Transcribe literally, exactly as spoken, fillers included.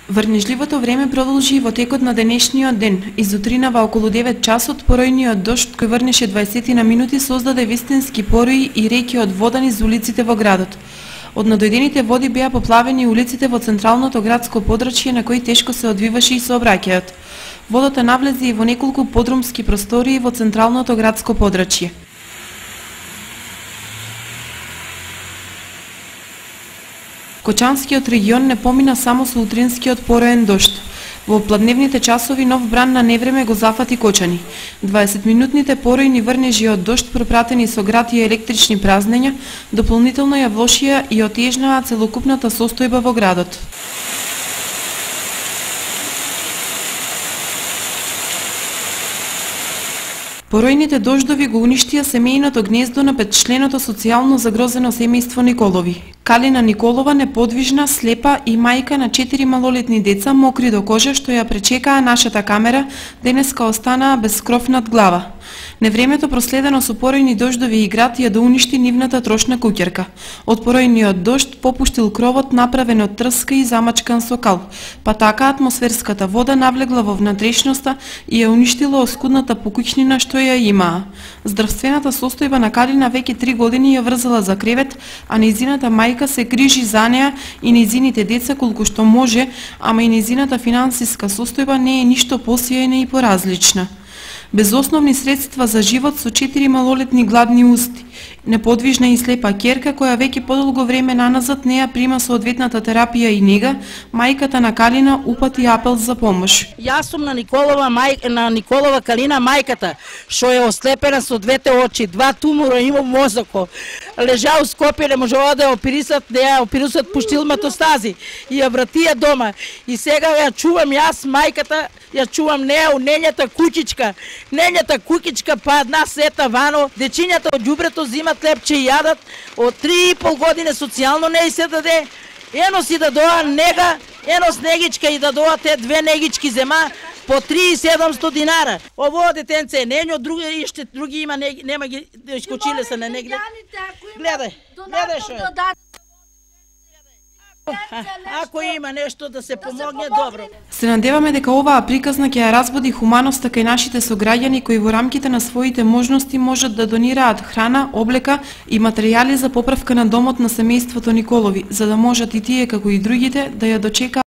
Врнежливото време продолжи во текот на денешниот ден. Изутринава околу девет часот поројниот дожд кој врнеше дваесет на минути создаде вистински порои и реки од вода низ улиците во градот. Од надојдените води беа поплавени улиците во централното градско подрачје на кои тешко се одвиваше и сообраќајот. Водата навлезе и во неколку подрумски простории во централното градско подрачје. Кочанскиот регион не помина само со утринскиот пороен дожд. Во пладневните часови нов бран на невреме го зафати Кочани. дваесетминутните поројни врнежи од дожд пропратени со град и електрични празнења дополнително ја влошија и отежнаа целокупната состојба во градот. Поројните дождови го уништија семејното гнездо на петчленото социјално загрозено семејство Николови. Калина Николова, неподвижна, слепа и мајка на четири малолетни деца, мокри до кожа, што ја пречекаа нашата камера, денеска останаа без кров над глава. Невремето проследено со поројни дождови и град ја доуништи нивната трошна куќерка. Од поројниот дожд попуштил кровот направен од трска и замачкан со кал, па така атмосферската вода навлегла во внатрешноста и ја уништила оскудната покуќнина што ја имаа. Здравствената состојба на Калина веќе три години ја врзала за кревет, а нејзината мајка се грижи за неа и нејзините деца колку што може, ама и нејзината финансиска состојба не е ништо посејна и поразлична. Без основни средства за живот со четири малолетни гладни усти, неподвижна и слепа ќерка која веќе подолго време наназад не ја прима соодветната терапија и нега, мајката на Калина упати апел за помош. Јас сум на Николова мај на Николова Калина мајката, што е ослепена со двете очи, два тумора има во мозокот. Лежа у Скопје, не можела да ја оперисат, да ја оперисат, пуштил метастази и ја вратија дома. И сега ја чувам јас мајката, ја чувам неа у нењата куќичка. Нењата куќичка па една сета вано, дечињата од ѓубрето зимат лепче и јадат, од три и пол години социјално не и се даде. Ено си да доа нега, ено снегичка и да доа те две негички зема по три и седумстотини динара. Ово детенце е нењо, други иште други има не, нема ги искочиле се на негде. Гледај, гледај што е. Ако има нешто да се помогне, добро. Се надеваме дека оваа приказна ќе ја разбуди хуманоста кај нашите сограѓани кои во рамките на своите можности можат да донираат храна, облека и материјали за поправка на домот на семејството Николови, за да можат и тие како и другите да ја дочекаат